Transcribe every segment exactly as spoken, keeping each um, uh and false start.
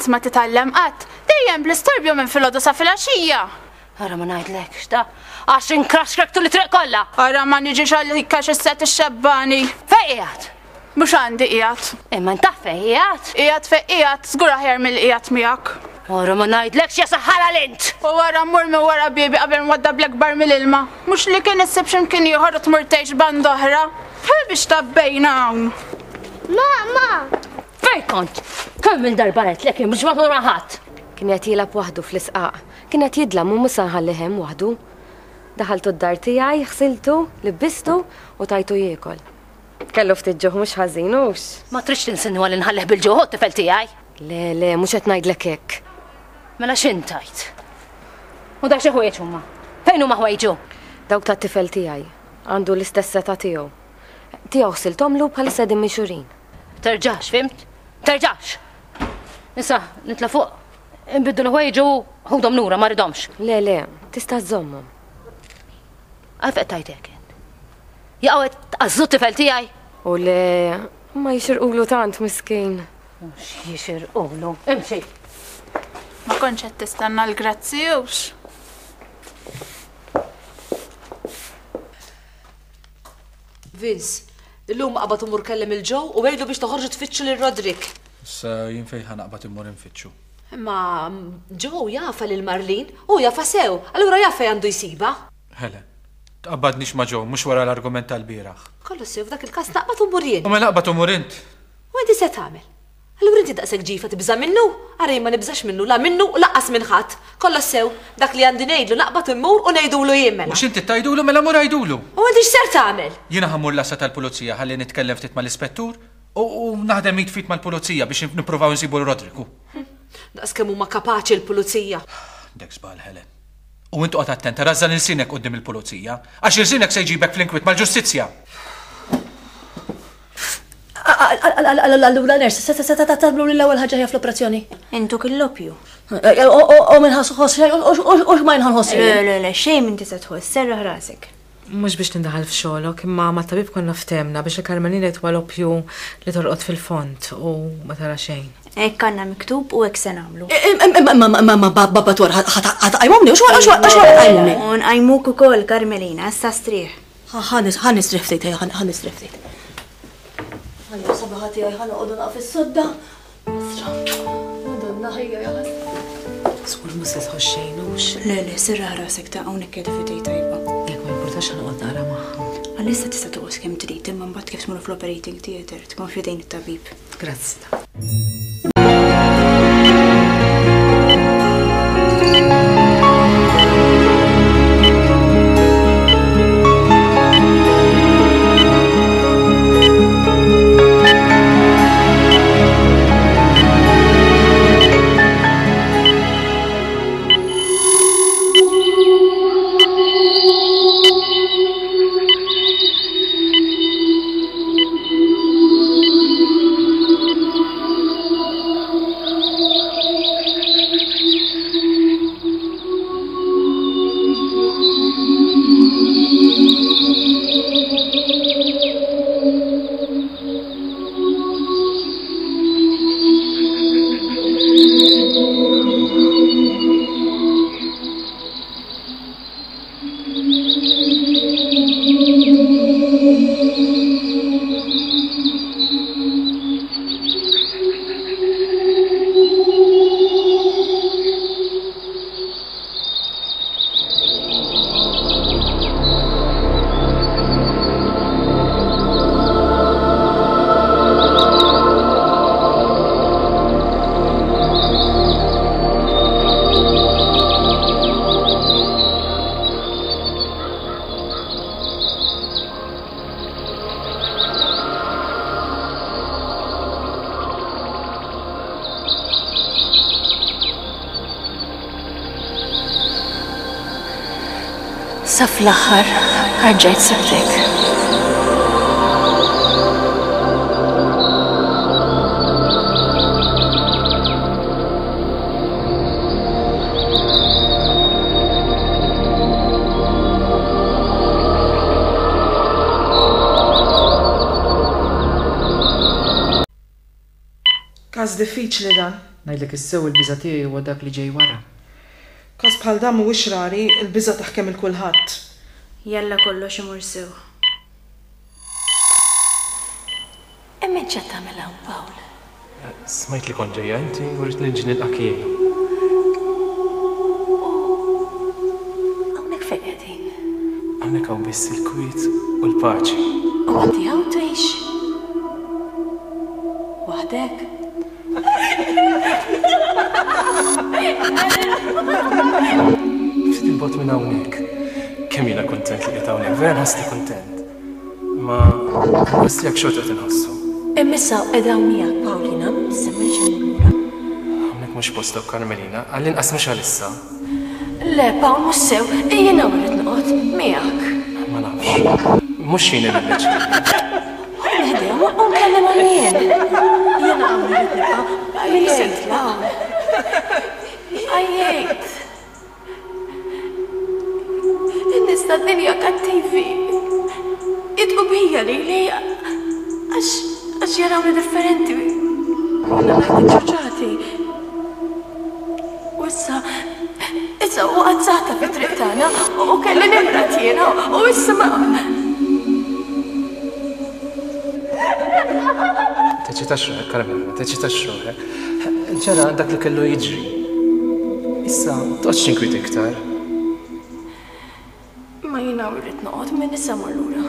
Lanqas ma titgħallem qatt. Dejjem bl-istorbju minn filgħodu sa filgħaxija. Ara ma ngħidlekx ta' għax inkraxkrek tul it-triq kollha. Ara ma niġix għalik għax issa tixxebbani. Fejn qiegħed? Mhux għandi qiegħed. Imma int fejn qiegħed? Qiegħed fejn qiegħed, żgur aħjar milli qiegħed miegħek. Ara ma ngħidlekx ja saħħara l-int. U wara mmur minn wara biebi qabel nwaddablek barmil ilma. Mhux li kien issib x'imkien ieħor u tmur tgħix band oħra. Bħal biex tabbejna hawn. Mama! Fejn kont? Kemm il-darba għedtlek jien biex ma tmur ma' ħadd. Kien qed jilgħab waħdu fl-isqaq. Kien qed jidlam u mhux se nħallih hemm waħdu. Daħaltu d-dar tiegħi, ħsiltu, libbistu u tajtu jiekol. Kellu ftit ġuħ mhux ħażin hux. Ma tridx tinsinwa li nħallih bil-ġuħ tifel tiegħi. Le, le, mhux qed ngħidlek hekk. Mela x'int tgħid? U dak xi ħwejjeġ huma? Fejn huma ħwejġu? Dawk tat-tifel tiegħi. Għandu l-istess età tiegħu. Tiegħu ħsiltomlu bħalissa qegħdin minxurin. Terġax, fimt? Terġax! Issa, nitla' fuq, inbiddu l-ħwejġu ħudhom lura, ma rridhomx. Le, le, tista' żżommhom. Għalfejn qed tgħid hekk int? Jaqgħu qed tqażżu t-tifel tiegħi? U le, ma jixirqulu tant miskin. Mhux jixirqulu. Imxi. Ma kontx qed tistenna l-grazzi hux. Vince, illum qabad imur kellem il-Joe u għidlu biex toħorġu tfittxu lil Roderick. Issa jien fejn ħa naqbad immur infittxu. Imma Joe jafa lil Marlene, u jafa sew, allura jaf fejn għandu jsibha. Helen, tqabbadnix ma' Joe, mhux wara l-argument tal-bieraħ. Kollu sew f'dak il-każ naqbad u mmur jien. U mela aqbad u mur int. U inti se tagħmel? Allura inti daqshekk ġifa tibża' minnu? Ara jien ma nibżax minnu, la minnu u lanqas minn ħadd. Kollox sew, dak li għandi ngħidlu naqbad immur u ngħidulu jien mela. Mhux inti tgħidulu mela mur għidulu. U inti x'ser tagħmel? Jiena ħa mmur l-għassa tal-pulizija ħalli nitkellem ftit mal-ispettur u, u naħdem id fit mal-pulizija biex nippruvaw nsibu l-Rodriku. Daqs kemm huma kapaċi l-pulizija. Dek żball, Helen. U int oqgħod attent, rażżan ilsinek quddiem il-pulizija, għax ilsinek se jġibek fl-inkwiet mal-ġustizzja. Allura nurse, se se tagħmlu l-ewwel ħaġa hija fl-operazzjoni. Intuk il-loppju. U minn ħoss u ma nħoss. Le, le, le, xejn m'inti se tħoss, serraħ rasek. Mhux biex nindaħal f'xogħlok, imma mat-tabib konna ftehmna biex il-Carmelina jitwa loppju li torqod fil-fond u ma tara xejn. Hekk għandna miktub u hekk se nagħmlu. Imma ma babba twar ħa tqajmumni, u x'wara x'wara tqajmumni. U nqajmuk ukoll Carmelina, issa strieħ. Ħa nistrieħ ftit, ħa nistrieħ ftit. Ħajja sabaħa tiegħi ħa noqogħdu naqaf is-sodda. Asra. Madonna ħajja ja ħasra. Żgur mhux se tħoss xejn hux. Le, le, serraħ rasek ta' hawnhekk qiegħda f'idej tajba. Jekk ma jimpurtax ħa noqgħod naqra magħha. Għalissa tista' toqgħod kemm trid, imma mbagħad kif tmur fl-operating theatre tkun f'idejn it-tabib. Grazzi. Sa fl-aħħar ħarġajt sibtek. Każ diffiċli dan. Ngħidlek issew il-biża' tiegħi huwa dak li ġej wara. Każ bħal dan mhuwiex rari, il-biża' taħkem il kulħadd. Jalla kollox imur sew. Imma int x'qed tagħmel hawn, Pawl? Smajt li kont ġejja inti u ridt niġi nilqak jien. U hawnhekk fejn qegħdin? Hawnhekk hawn biss il-kwiet u l-paċi. U inti hawn tgħix? Waħdek? Ftit il-bogħod minn hawnhekk. Kemm jiena kuntent li qiegħed hawnhekk, vera nħossni kuntent. Ma gost tiegħek xorta qed inħossu. Imma issa qiegħda hawn miegħek Paulina, issa ma rridx immur lura. Hawnhekk mhux postok Carmelina, għall-inqas mhux għalissa. Le, Pawl mhux sew, jiena hawn irrid noqgħod miegħek. Ma nafx. Mhux jien li niddeċiedi. Ħdejha u nkellem jien. Jiena hawn irrid nibqa' min se jitla' hawn. Għajjejt. In-nies tad-dinja kattivi. Jidqu bija lili għax għax jarawni differenti. U naqgħod iċċuċati. U issa issa waqgħet saħta fit-triq tagħna u kelli nimrad jiena u issa ma Teċitax ruħek, Carmelina, teċitax ruħek. Ġara dak li kellu jiġri. Issa, toqgħodx tinkwiet iktar. Ma jiena rrid noqgħod minn issa mmur lura.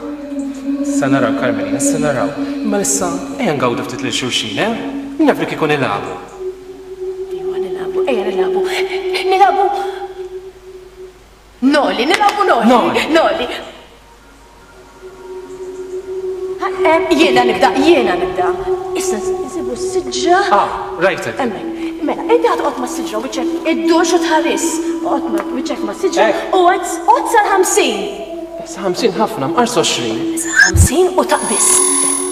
Sa naraw, Carmelina, sa naraw. Imma issa ejja ngawdu ftit lil xulxin, eh? Min jaf li kieku nilagħbu. Ejwa nilagħbu, ejja nilagħbu. Nilagħbu. Noli, nilagħbu noli. Noli. Noli. Jiena nibda, jiena nibda. Issa nsibu s-siġra. Ah, rajtek. Hemmhekk. Mela, inti ħa toqgħod mas-siġra u wiċċek iddux u tħares. Oqgħod ma' wiċċek mas-siġra u għod sal-ħamsin. Sa ħamsin ħafna, mqars għoxrin. Sa ħamsin u taqbis.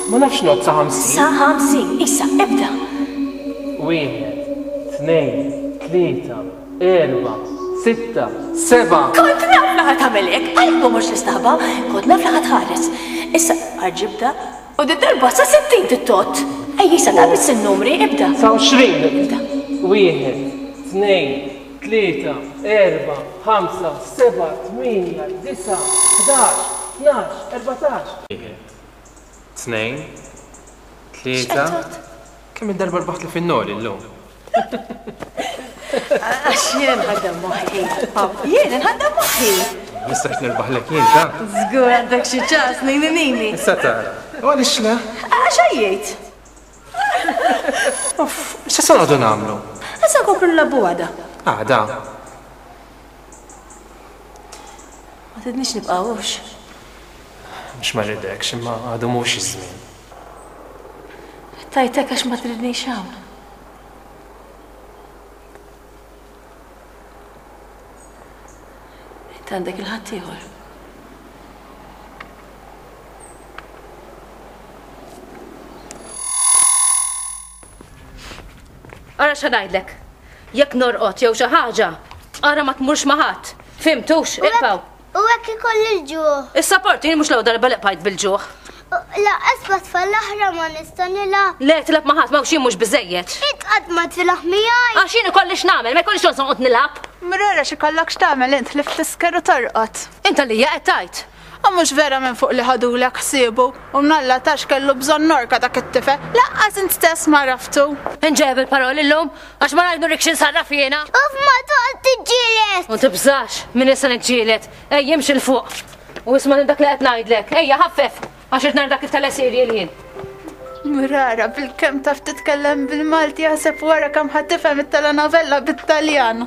Ma nafx ngħodd sa ħamsin. Sa ħamsin, issa, ibda. Wieħed, tnejn, tlieta, erba', sitta, seba'. Kont naf li ħa tagħmel hekk, għalhekk ma mortx nistaħba, kont naf li ħa tħares. Issa, ġibda, u di darba sa sittin tittot. Ejja, issa taqbis in-numri, ibda. Sa għoxrin. Ibda. Wieħed, tnejn, tlieta, erba', ħamsa, seba', tmienja, disa', ħdax, tnax, erbatax. Wieħed, tnejn, tlieta. Kemm il-darba rbaħt li fin-noli llum? Għax jiena nħaddem moħħi. Jiena nħaddem moħħi. Nistax nirbaħlek jien ta'. Żgur għandek xi ċans, nini nini. Issa tara. U għaliex le? Għax għajjejt. Uff, x'se noqogħdu nagħmlu? Issa nkomplu nilagħbu għada. Għada. Ma tridniex nibqgħux. Mhux ma rridekx, imma għadu mhux iż-żmien. Tajtek għax ma tridniex hawn. Int għandek il-ħaddieħor. Ara xa ngħidlek. Jekk norqod jew xi ħaġa, ara ma tmurx ma' ħadd. Fimtux, iqpaw. U hekk ikolli l-ġuħ. Is-sapport jien mhux l-ewwel darba li qbajt bil-ġuħ. Laqqas ma tfal l-oħra ma nista' nilgħab. Le tilgħab ma' ħadd ma jien mhux biżejjed. Int qatt ma tilgħab miegħi. Għax jien ikolli x'nagħmel, ma jkollix xogħol noqgħod nilgħab. Mrara x'ikollok x'tagħmel int li ftisker u torqod. Int għalija qed tgħid. U mhux vera minn fuq li ħadulek ħsiebu u mnalla tax kellu bżonn norka dak it-tifel, laqqas int stess ma raftu. Inġeb il-paroli llum għax ma ngħid nurikx insarraf jiena. Uf ma toqgħod tiġġieled. U tibżax minn issa niġġieled. Ejja imxi l fuq. U isma' dak li qed ngħidlek. Ejja ħaffef għax qed nara dak it-telesirjel jien. Mrara bil-kemm taf titkellem bil-Malti jaħseb wara kemm ħadd tifhem it-telenovella bit-Taljan.